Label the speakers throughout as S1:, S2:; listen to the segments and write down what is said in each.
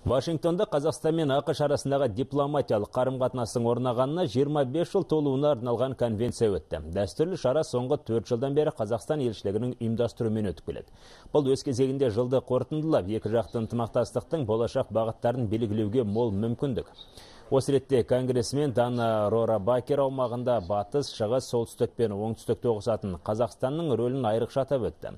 S1: Вашингтонда Қазақстан мен ақш арасындағы дипломатиялық қарым-қатынастың орнағанына 25 жыл толуына арналған конвенция өтті. Дәстүрлі шара соңғы 4 жылдан бері Қазақстан елшілігінің ұйымдастыруымен өтіп келеді. Бұл өз кезегінде жылды қорытындылап, екі жақты ынтымақтастықтың болашақ бағыттарын белгілеуге мол мүмкіндік. Осы ретте конгрессмен Дана Рора Бакер аумағында батыс, шығыс, солтүстік пен оңтүстікті тоғысатын Қазақстанның рөлін айрықша атап өтті.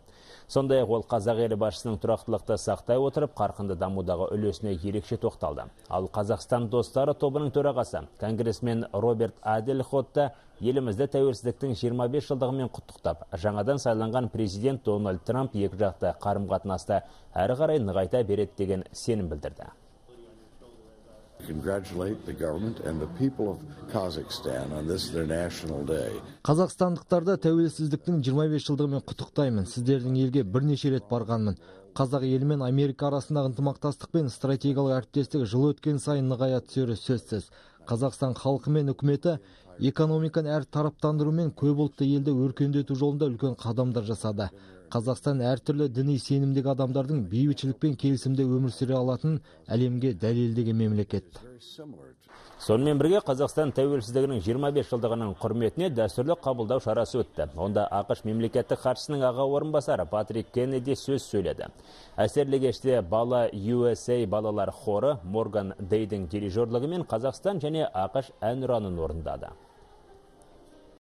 S1: Сондай-ақ ол қазақ елі басшысының тұрақтылықты сақтай отырып, қарқынды дамудағы үлесіне ерекше тоқталды. Ал Қазақстан достары тобының төрағасы конгрессмен Роберт Аделхотта елімізді тәуелсіздіктің 25 жылдығымен құттықтап, жаңадан сайланған президент Дональд Трамп екі жақты қарым-қатынасты әрі қарай нығайта береді деген сенім білдірді.
S2: Қазақстандықтарды тәуелсіздіктің 25 жылдығымен құттықтаймын. Сіздердің елге бірнеше рет барғанмын. Қазақ елі мен Америка арасындағы ынтымақтастық пен стратегиялық әріптестік жыл өткен сайын нығая түсері сөзсіз. Қазақстан халқы мен үкіметі экономиканы әр тараптандыру мен көпұлтты елді өркендету жолында үлкен қадамдар жасады. Қазақстан әртүрлі діни сенімдегі адамдардың бейбітшілік пен келісімде өмір сүре алатын әлемге дәлелдеген мемлекет.
S1: Сонымен бірге Қазақстан тәуелсіздігінің 25 жылдығының құрметіне дәстүрлі қабылдау шарасы өтті. Онда ақш мемлекеттік хатшысының аға орынбасары Патрик Кеннеди сөз сөйледі. Әсерлі кеште бала USA балалар хоры Морган Дейдің дирижерлігімен Қазақстан және ақш әнұранын орындады.